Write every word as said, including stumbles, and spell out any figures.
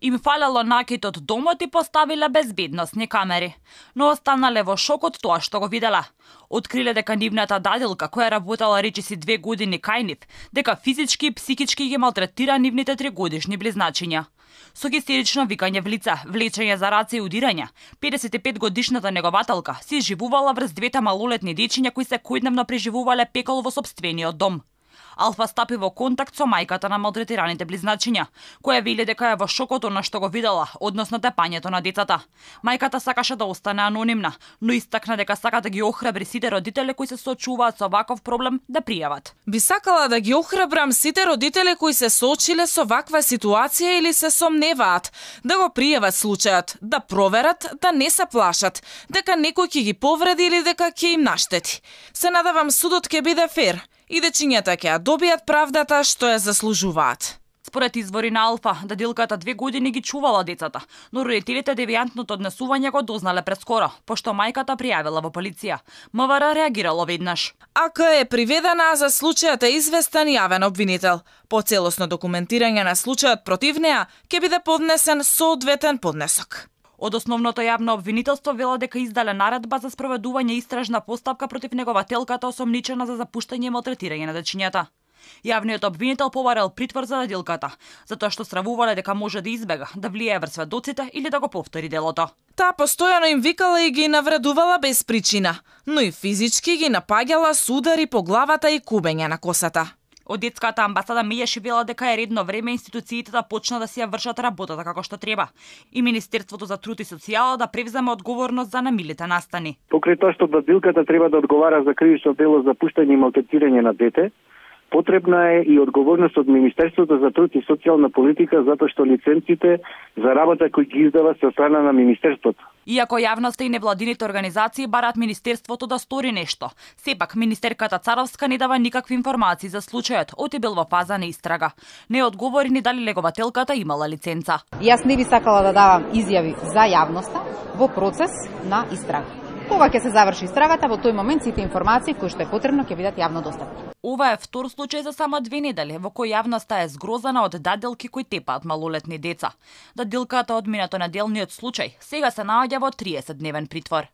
Им фалело накид од домот и поставиле безбедносни камери, но останале во шок од тоа што го видела. Откриле дека нивната дадилка, која работела речиси две години кај нив, дека физички и психички ги малтретира нивните тригодишни близначиња. Со хистерично викање в лице, влечење за раце и удирање, педесет и пет годишната негователка се изживувала врз двете малолетни дечиња кои се којдневно преживувале пекол во сопствениот дом. Алфа стапи во контакт со мајката на малтретираните близначиња, која вели дека е во шок од она што го видела, односно тепањето на децата. Мајката сакаше да остане анонимна, но истакна дека сака да ги охрабри сите родители кои се соочуваат со ваков проблем да пријават. Би сакала да ги охрабрам сите родители кои се соочиле со ваква ситуација или се сомневаат, да го пријават случајот, да проверат, да не се плашат, дека некој ќе ги повреди или дека ќе им наштети. Се надевам судот ќе биде фер и дечињата ќе ја добијат правдата што ја заслужуваат. Според извори на Алфа, дадилката две години ги чувала децата, но родителите девијантното однесување го дознале прескоро, пошто мајката пријавила во полиција. МВР реагирало веднаш. АК е приведена, за случајот е известен јавен обвинител. По целосно документирање на случајот против неа ќе биде поднесен соодветен поднесок. Од основното јавно обвинителство вела дека издале наредба за спроведување истражна постапка против негователката осомничена за запуштање и малтретирање на дечињата. Јавниот обвинител побарал притвор за дадилката, затоа што стравувале дека може да избега, да влијае врз сведоците или да го повтори делото. Таа постојано им викала и ги навредувала без причина, но и физички ги напаѓала с удари по главата и кубење на косата. Од детската амбасада Мијаши вела дека е редно време институциите да почнат да си ја вршат работата како што треба и Министерството за труд и социјала да превземе одговорност за намилите настани. Покрај тоа што дадилката треба да одговара за кривично дело за пуштање и малтретирање на дете, потребна е и одговорност од Министерството за труд и социјална политика, затоа што лиценците за работа кои ги издава се од страна на Министерството. Иако јавноста и невладините организации бараат Министерството да стори нешто, сепак министерката Царовска не дава никакви информации за случајот, оти бил во фаза на истрага. Не одговори ни дали негователката имала лиценца. Јас не би сакала да давам изјави за јавноста во процес на истрага. Кога ќе се заврши истрагата, во тој момент сите информации кои што е потребно ќе бидат јавно достапни. Ова е втор случај за само две недели во кој јавноста е згрозена од дадилки кои тепаат малолетни деца. Дадилката од минато неделниот случај сега се наоѓа во триесет дневен притвор.